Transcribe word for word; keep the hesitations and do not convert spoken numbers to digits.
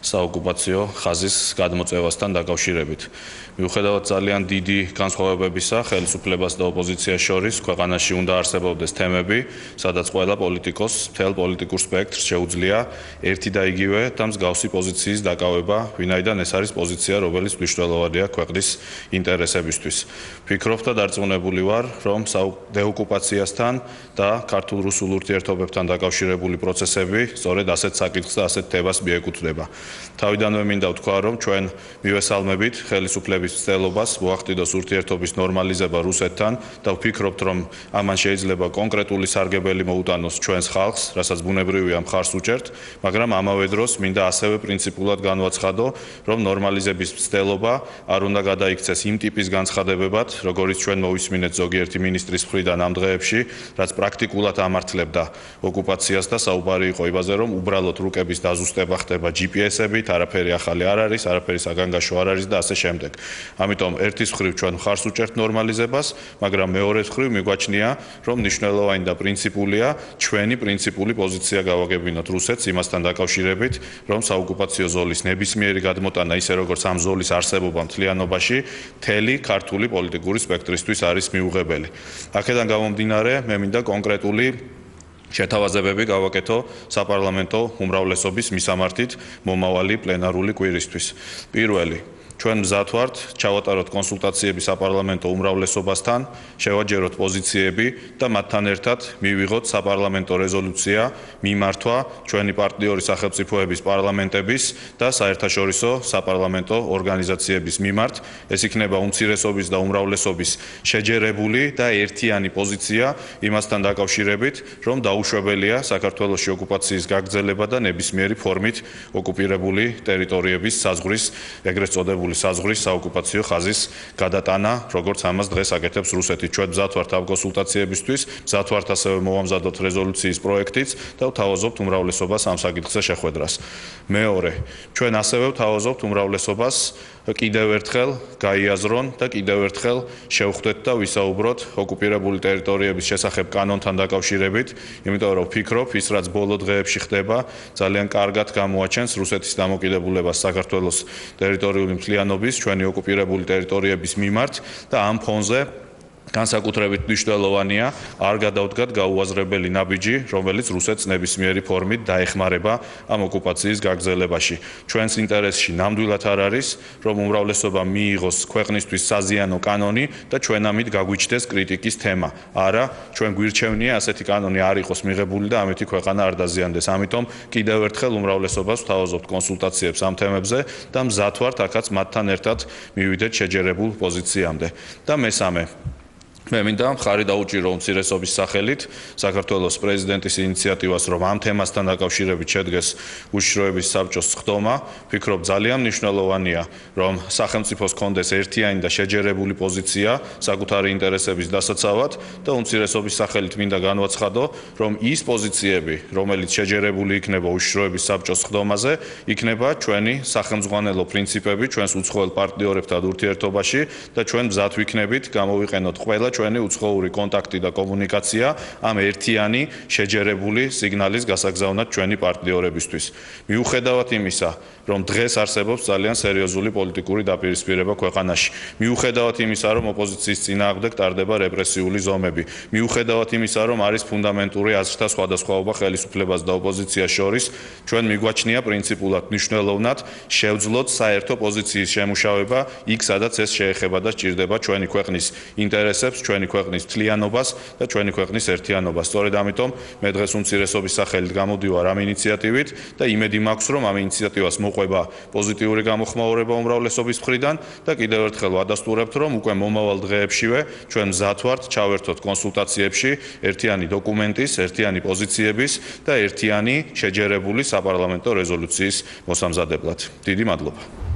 საოკუპაციო ხაზის გადმოწევასთან დაკავშირებით. Მიუხედავად ძალიან დიდი განსხვავებებისა ხელისუფლებას და ოპოზიციას შორის ქვეყანაში უნდა არსებობდეს თემები, სადაც ყველა პოლიტიკოსს მთელ პოლიტიკურ სპექტრს შეუძლია ერთი და იგივე და მსგავსი პოზიციის დაკავება, ვინაიდან ეს არის პოზიცია, რომელიც მნიშვნელოვანია ქვეყნის ინტერესებისთვის. Ვფიქრობ და დარწმუნებული ვარ, რომ დეოკუპაციასთან და ქართულ-რუსულ ურთიერთობებთან დაკავშირებული პროცესები სწორედ ასეთ საკითხს და ასეთ თემას მიეკუთვნება. Თავიდანვე მინდა ვთქვა, რომ ჩვენ მივესალმებით ხელისუფლების მცდელობას მოახდინოს ურთიერთობის ნორმალიზება რუსეთთან და ვფიქრობთ, რომ ამან შეიძლება კონკრეტული სარგებელი მოუტანოს ჩვენს ხალხს, რასაც ბუნებრივია მხარს უჭერთ, მაგრამ ამავე დროს მინდა ასევე პრინციპულად განვაცხადო, რომ ნორმალიზების მცდელობა არ უნდა გადაიქცეს იმ ტიპის განცხადებებად, როგორიც ჩვენ მოვისმინეთ ზოგიერთი მინისტრის მხრიდან ამ დღეებში, რაც პრაქტიკულად ამართლებდა ოკუპაციას და საუბარი იყო იმაზე, რომ უბრალოდ რუკების დაზუსტება ხდება ჯი პი ესებით, არაფერი ახალი არ არის, არაფერი საგანგაშო არ არის და ასე შემდეგ. Ამიტომ ერთის მხრივ ჩვენ მხარს უჭერთ ნორმალიზებას, მაგრამ მეორეს მხრივ მიგვაჩნია, რომ მნიშვნელოვანი და პრინციპულია ჩვენი პრინციპული პოზიცია გავაგებინოთ რუსეთს იმასთან დაკავშირებით, რომ საოკუპაციო ზოლის ნებისმიერი გადმოტანა ისე როგორც ამ ზოლის არსებობა მთლიანობაში მთელი ქართული პოლიტიკური სპექტრისთვის არის მიუღებელი. აქედან გამომდინარე, მე მინდა კონკრეტული შეთავაზებები გავაკეთო საპარლამენტო უმრავლესობის მისამართით მომავალი პლენარული კვირისთვის. Პირველი ჩვენ მზად ვართ ჩავატაროთ კონსულტაციები საპარლამენტო უმრავლესობასთან, შევაჯეროთ პოზიციები და მათთან ერთად მივიღოთ საპარლამენტო რეზოლუცია მიმართვა ჩვენი პარტნიორი სახელმწიფოების პარლამენტების და საერთაშორისო საპარლამენტო ორგანიზაციების მიმართ. ეს იქნება უმცირესობის და უმრავლესობის შეჯერებული და ერთიანი პოზიცია იმასთან დაკავშირებით, რომ დაუშვებელია საქართველოში ოკუპაციის გაგრძელება და ნებისმიერი ფორმით ოკუპირებული ტერიტორიების საზღვრის ეგრეთ წოდებული საზღვრის საოკუპაციო ხაზის გადატანა, როგორც ამას დღეს აკეთებს რუსეთი. ჩვენ მზად ვართ ამ კონსულტაციებისთვის, მზად ვართ ასევე მოვამზადოთ რეზოლუციის პროექტიც და ვთავაზობთ უმრავლესობას ამ საკითხზე შეხვედრას. მეორე, ჩვენ ასევე ვთავაზობთ უმრავლესობას კიდევ ერთხელ გაიაზრონ და კიდევ ერთხელ შევხვდეთ და ვისაუბროთ ოკუპირებული ტერიტორიების შესახებ კანონთან დაკავშირებით, იმიტომ რომ ვფიქრობ, ის რაც ბოლო დღეებში ხდება, ძალიან კარგად გამოაჩენს რუსეთის დამოკიდებულებას საქართველოს ტერიტორიული მთლიანობის, ჩვენი ოკუპირებული ტერიტორიების მიმართ და ამ ფონზე განსაკუთრებით მნიშვნელოვანია არ გადავდგათ გაუაზრებელი ნაბიჯი, რომელიც რუსეთს ნებისმიერი ფორმით დაეხმარება ამ ოკუპაციის გაგრძელებაში. ჩვენს ინტერესში ნამდვილად არ არის, რომ უმრავლესობა მიიღოს ქვეყნისთვის საზიანო კანონი და ჩვენ ამით გაგვიჩნდეს კრიტიკის თემა. არა, ჩვენ გვირჩევნია ასეთი კანონი არ იყოს მიღებული და ამითი ქვეყანა არ დაზიანდეს. ამიტომ კიდევ ერთხელ უმრავლესობას ვთავაზობთ კონსულტაციებს ამ თემებზე და მზად ვართ აქაც მათთან ერთად მივიდეთ შეჯერებულ პოზიციამდე. და მესამე მე მინდა მხარი დაუჭირო უმცირესობის სახელით საქართველოს პრეზიდენტის ინიციატივას, რომ ამ თემასთან დაკავშირებით შედგეს უშიშროების საბჭოს სხდომა. ვფიქრობ, ძალიან მნიშვნელოვანია, რომ სახელმწიფოს ჰქონდეს ერთიანი და შეჯერებული პოზიცია საკუთარი ინტერესების დასაცავად და უმცირესობის სახელით მინდა განვაცხადო, რომ ის პოზიციები, რომელიც შეჯერებული იქნება უშიშროების საბჭოს სხდომაზე, იქნება ჩვენი სახელმძღვანელო პრინციპები ჩვენს უცხოელ პარტნიორებთან ურთიერთობაში და ჩვენ მზად ვიქნებით გამოვიყენოთ ყველა ჩვენი უცხოური კონტაქტი და კომუნიკაცია ამ ერთიანი შეჯერებული სიგნალის გასაგზავნად ჩვენი პარტნიორებისთვის. მიუხედავად იმისა, რომ დღეს არსებობს ძალიან სერიოზული პოლიტიკური დაპირისპირება ქვეყანაში, მიუხედავად იმისა, რომ ოპოზიციის წინააღმდეგ ტარდება რეპრესიული ზომები, მიუხედავად იმისა, რომ არის ფუნდამენტური აზრთა სხვადასხვაობა ხელისუფლებას და ოპოზიციას შორის, ჩვენ მიგვაჩნია პრინციპულად მნიშვნელოვნად შევძლოთ საერთო პოზიციის შემუშავება იქ, სადაც ეს შეეხება და სჭირდება ჩვენი ქვეყნის ინტერესებს, ჩვენი ქვეყნის მთლიანობას და ჩვენი ქვეყნის ერთიანობას. სწორედ ამიტომ მე დღეს უმცირესობის სახელით გამოდივარ ამ ინიციატივით და იმედი მაქვს, რომ ამ ინიციატივას მოყვება პოზიტიური გამოხმაურება უმრავლესობის მხრიდან და კიდევ ერთხელ ვადასტურებთ, რომ უკვე მომავალ დღეებშივე ჩვენ მზად ვართ ჩავერთოთ კონსულტაციებში ერთიანი დოკუმენტის, ერთიანი პოზიციების და ერთიანი შეჯერებული საპარლამენტო რეზოლუციის მოსამზადებლად. დიდი მადლობა.